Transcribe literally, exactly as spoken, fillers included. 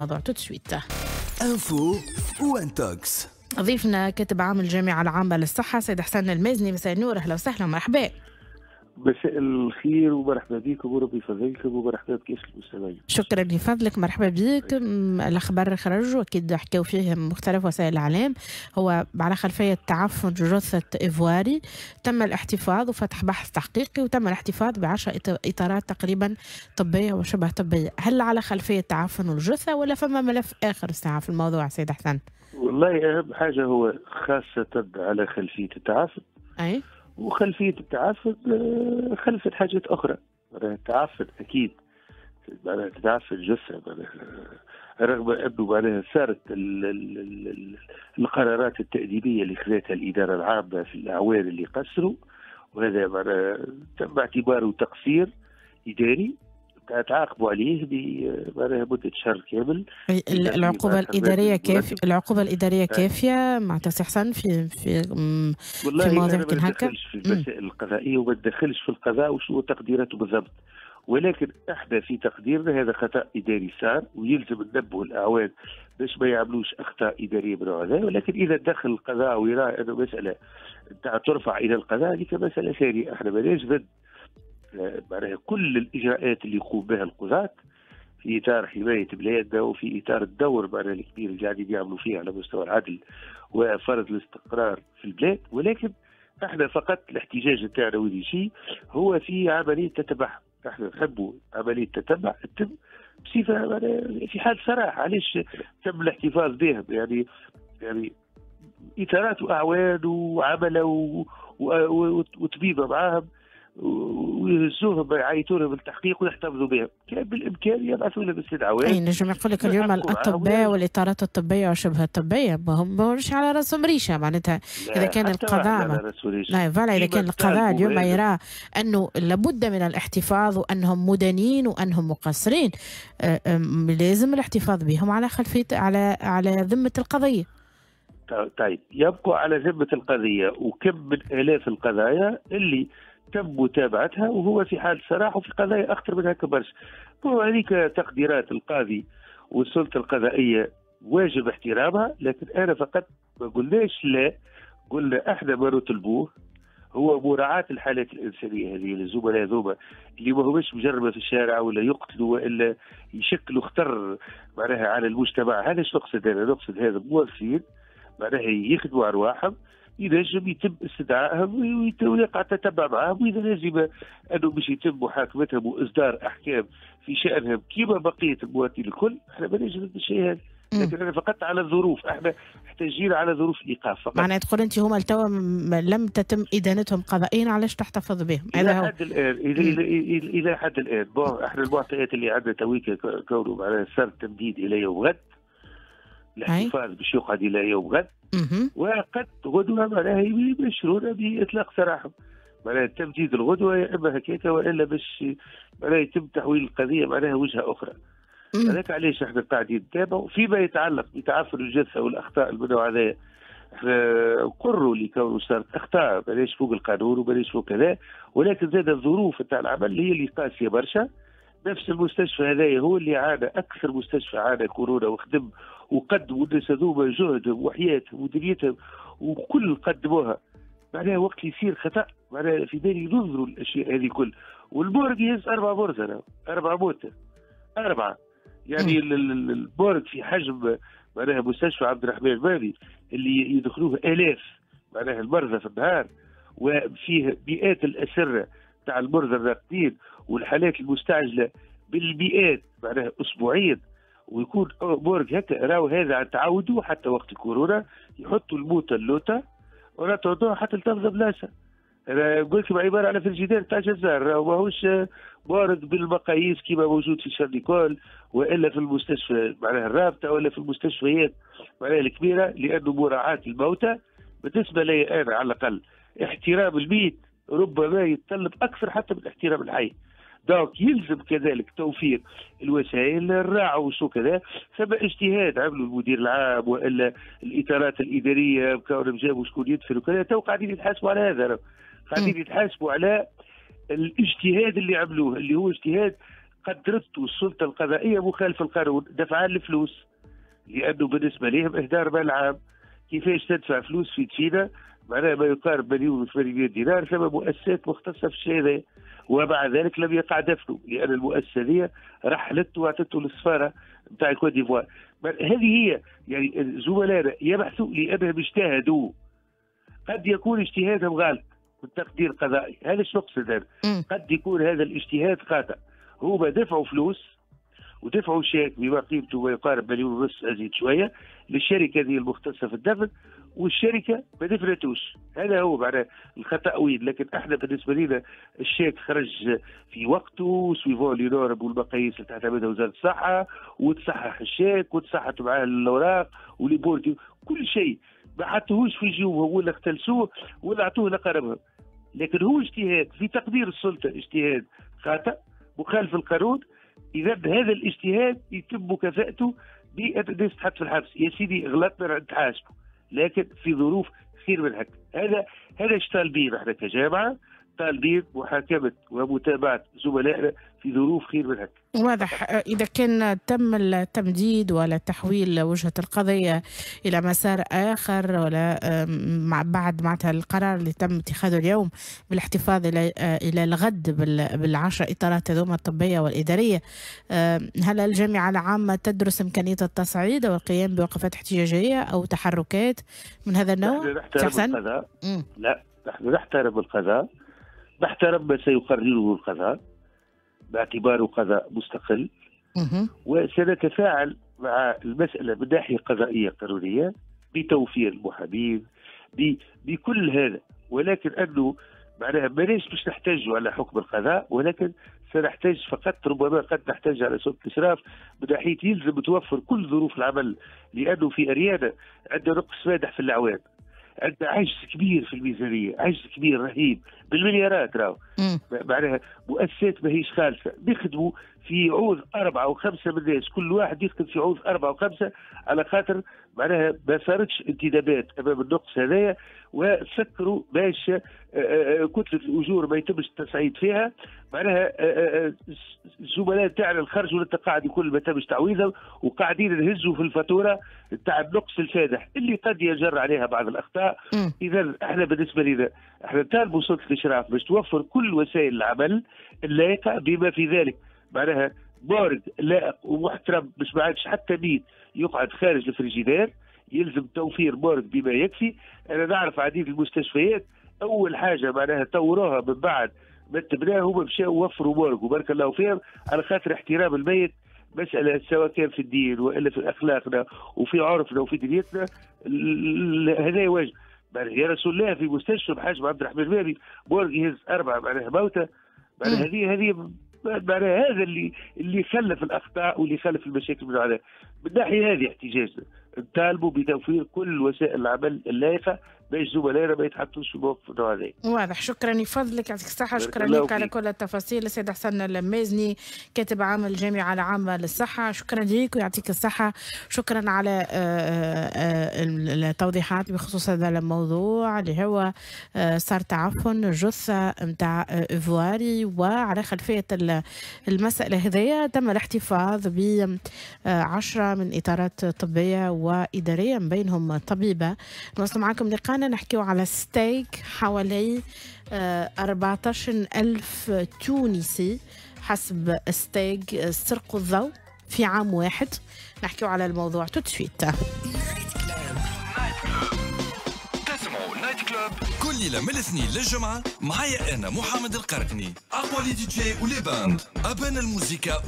الموضوع tout de suite. info و intox. ضيفنا كاتب عام الجامعة العامة للصحة سيد حسن المازني. مساء النور، اهلا وسهلا ومرحبا. مساء الخير ومرحبا بكم وربي يفضلكم ومرحبا بكافة المستمعين. شكرا لفضلك، مرحبا بك. الأخبار خرج وأكيد حكاو فيه مختلف وسائل الإعلام، هو على خلفية تعفن جثة إيفواري تم الاحتفاظ وفتح بحث تحقيقي وتم الاحتفاظ بعشر إطارات تقريبا طبية وشبه طبية. هل على خلفية تعفن الجثة ولا فما ملف آخر الساعة في الموضوع سيد حسن؟ والله أهم حاجة هو خاصة على خلفية التعفن. أي؟ وخلفية التعفن خلفت حاجات أخرى. التعفن أكيد معناها تتعفن جثة، رغم أنه معناها صارت القرارات التأديبية اللي خذتها الإدارة العامة في الأعوان اللي قصروا، وهذا معناها تم اعتباره تقصير إداري تعاقبوا عليه بمعناها مدة شهر كامل. العقوبة الإدارية كافية؟ العقوبة الإدارية كافية مع سي حسن في في والله في مواضيع كان هكا؟ ما ندخلش في المسائل القضائية وما ندخلش في القضاء وشو تقديراته بالضبط، ولكن احنا في تقديرنا هذا خطأ إداري صار ويلزم ننبهوا الأعوان باش ما يعملوش أخطاء إدارية من هذا. ولكن إذا دخل القضاء ويرى أنه مسألة ترفع إلى القضاء هذيك مسألة ثانية. احنا ماناش ضد معناها كل الإجراءات اللي يقوم بها القضاة في إطار حماية بلادنا وفي إطار الدور معناها الكبير اللي قاعدين يعملوا فيه على مستوى العدل وفرض الاستقرار في البلاد، ولكن احنا فقط الاحتجاج تاعنا وذي شيء هو في عملية تتبع. احنا نحبوا عملية تتبع تتم بصفة في حال سراح. علاش تم الاحتفاظ بهم؟ يعني يعني إطارات وأعوان وعملة وطبيبة معاهم ويهزوهم يعيطوا لهم التحقيق ويحتفظوا بهم، كان بالامكان يبعثوا لهم استدعاءات. اي نجم يقول لك اليوم الاطباء والاطارات الطبية وشبه الطبية ما هم مش على راسهم ريشه معناتها. اذا كان القضاء لا voilà، اذا كان القضاء اليوم يرى انه لابد من الاحتفاظ وانهم مدانين وانهم مقصرين، لازم الاحتفاظ بهم على خلفية على على ذمه القضية. طيب يبقوا على ذمه القضية، وكم من الاف القضايا اللي تم متابعتها وهو في حال سراح وفي قضايا اخطر من هكا برشا. هذيك تقديرات القاضي والسلطة القضائية واجب احترامها، لكن انا فقط ما قلناش لا، قلنا احنا ما نطلبوه هو مراعاة الحالات الانسانية هذه للزملاء هذوما اللي ما هماش مجربه في الشارع ولا يقتلوا والا يشكلوا خطر معناها على المجتمع. هذا ايش نقصد انا؟ نقصد هذا موظفين معناها يخدموا ارواحهم، ينجم يتم استدعائهم ويقع تتبع معهم، واذا لازم انه باش يتم محاكمتهم واصدار احكام في شانهم كما بقية المواطنين الكل، احنا ما نجم الشيء هذا. لكن انا فقط على الظروف، احنا احتاجين على ظروف الايقاف فقط. معناها تقول انت هما التوا لم تتم ادانتهم قضائيا، علاش تحتفظ بهم؟ الى حد الان الى الى الى حد الان bon احنا المعطيات اللي عندنا تويك كونه معناها صار تمديد الى يوم غد، الاحتفاظ باش يقعد الى يوم غد، وقد غدوه معناها يبشرونا باطلاق سراحهم. معناها تمديد الغدوه يا اما هكاك والا باش معناها يتم تحويل القضية معناها وجهه اخرى. هذاك علاش احنا قاعدين نتابعوا فيما يتعلق بتعفن الجثة والاخطاء المنوع هذايا. احنا نقروا لكونه صارت اخطاء بلاش فوق القانون وبلاش فوق كذا، ولكن زاد الظروف تاع العمل هي اللي قاسية برشا. نفس المستشفى هذايا هو اللي عانى اكثر مستشفى عانى كورونا وخدم وقدموا الناس هذوما جهدهم وحياتهم ودنيتهم وكل قدموها. معناها وقت يصير خطا معناها في بالي ينظروا الاشياء هذه كل. وال morgue يهز اربع مرتى اربع موتى اربعة، يعني ال morgue في حجم معناها مستشفى عبد الرحمن المالي اللي يدخلوه الاف معناها المرضى في النهار، وفيه مئات الاسرة تاع المرضى الراقدين والحالات المستعجله بالمئات معناها اسبوعيا، ويكون morgue هكا. راهو هذا تعودوا حتى وقت الكورونا يحطوا الموتى اللوطه ولا تعودوها حتى تفضى بلاصة. انا قلت لكم عبارة على فرجيدير تاع جزار، راهو ماهوش morgue بالمقاييس كما موجود في شارليكول والا في المستشفى معناها الرابطة ولا في المستشفيات معناها الكبيرة، لانه مراعاة الموتى بالنسبة لي انا على الاقل احترام الميت ربما يتطلب اكثر حتى من احترام الحي. donc يلزم كذلك توفير الوسائل الراعوا وشو كذا. ثم اجتهاد عملوا المدير العام والا الاطارات الادارية كونهم جابوا شكون يدفن وكذا، تو قاعدين يتحاسبوا على هذا، قاعدين يتحاسبوا على الاجتهاد اللي عملوه اللي هو اجتهاد قدرته السلطة القضائية مخالف القانون، دفعان الفلوس، لانه بالنسبة لهم اهدار مال عام. كيفاش تدفع فلوس في تشينا معناها ما يقارب مليون وثمانمائة دينار، ثم مؤسسات مختصة في الشيء هذا، ومع ذلك لم يقع دفنه لان المؤسسة دي رحلته واعطته للسفاره نتاع الكوت ديفوار. هذه هي يعني زملائنا يبحثوا لانهم اجتهدوا، قد يكون اجتهادهم غلط بالتقدير القضائي، هذا شو نقصد انا، قد يكون هذا الاجتهاد خاطئ. هما دفعوا فلوس ودفعوا شيك بما قيمته ما يقارب مليون ونص ازيد شوية للشركة هذه المختصة في الدفن، والشركة ما دفنتوش. هذا هو معناه الخطا وين. لكن احنا بالنسبة لنا الشيك خرج في وقته suivant les normes والمقاييس اللي تعتمدها وزارة الصحة، وتصحح الشيك وتصحت معاه الاوراق و les bordereaux، كل شيء ما حطوهوش في جيوبهم ولا اختلسوه ولا اعطوه لقربهم. لكن هو اجتهاد في تقدير السلطة، اجتهاد خاطئ مخالف القانون. اذا هذا الاجتهاد يتم مكافاته بان الناس تحط في الحبس. يا سيدي غلطنا نتحاسبوا، لكن في ظروف خير من هكا. هذا هذا ايش طالبين احنا كجامعه، طالبين محاكمة ومتابعة زملائنا في ظروف خير من هكا. واضح. إذا كان تم التمديد ولا تحويل وجهة القضية إلى مسار آخر، ولا مع بعد معناتها القرار اللي تم اتخاذه اليوم بالاحتفاظ إلى إلى الغد بالعشر إطارات هذوما الطبية والإدارية، هل الجامعة العامة تدرس إمكانية التصعيد أو القيام بوقفات احتجاجية أو تحركات من هذا النوع؟ نحن نحترم القضاء. لا، نحن نحترم القضاء، نحترم ما سيقرره القضاء باعتباره قضاء مستقل، وسنتفاعل مع المسألة من ناحية قضائية قانونية بتوفير المحامين بكل هذا. ولكن أنه معناها ماناش باش نحتاجوا على حكم القضاء، ولكن سنحتاج فقط ربما قد نحتاج على سلطة الإشراف من ناحية يلزم توفر كل ظروف العمل، لأنه في أريانا عندنا نقص فادح في الأعوان، عندنا عجز كبير في الميزانية، عجز كبير رهيب بالمليارات راهو. معناها مؤسسات ماهيش خالصة، نخدموا في عوض أربعة وخمسة من الناس، كل واحد يخدم في عوض أربعة وخمسة على خاطر معناها ما صارتش انتدابات أمام النقص هذايا، وسكروا باش كتلة الأجور ما يتمش التصعيد فيها. معناها الزملاء تاعنا خرجوا للتقاعد الكل ما تمش تعويضهم، وقاعدين نهزوا في الفاتورة تاع النقص الفادح اللي قد يجر عليها بعض الأخطاء. إذا احنا بالنسبة لنا احنا نطالبوا سلطة الإشراف باش توفر كل وسائل العمل اللائقة بما في ذلك معناها morgue لائق ومحترم باش ما عادش حتى ميت يقعد خارج الفريجيدير، يلزم توفير morgue بما يكفي. انا نعرف عديد المستشفيات اول حاجة معناها طوروها من بعد ما تبناها هما مشاو وفروا morgue، وبارك الله فيهم، على خاطر احترام الميت مسالة سواء كان في الدين والا في اخلاقنا وفي عرفنا وفي دنيتنا، هذا واجب. يا رسول الله في مستشفى بحجم عبد الرحمن البابي morgue يهز اربعة معناها موتى، معناها هذه هذه معناها هذا اللي اللي خلف الاخطاء واللي خلف المشاكل من هذا. من الناحية هذه احتجاجنا نطالبوا بتوفير كل وسائل العمل اللائقة باش زملائنا ما يتحطوش في موقف النوع هذا. واضح. شكرا لفضلك، يعطيك الصحة، شكرا لك على كل التفاصيل. السيد حسن المازني كاتب عام الجامعة العامة للصحة، شكرا لك ويعطيك الصحة. شكرا على التوضيحات بخصوص هذا الموضوع اللي هو صار تعفن جثة نتاع إيفواري، وعلى خلفية المسألة هذيا تم الاحتفاظ ب عشرة من إطارات طبية وإدارية من بينهم طبيبة. نواصل معكم لقانا نحكيو على ستيك حوالي أربعة عشر ألف تونسي حسب ستيك سرقوا الضوء في عام واحد. نحكيو على الموضوع tout de suite. تسمعوا Night Club كل ليلة من الاثنين للجمعة معايا أنا محمد القرقني، أقوى les DJ و les bandes، أبان الموسيقى.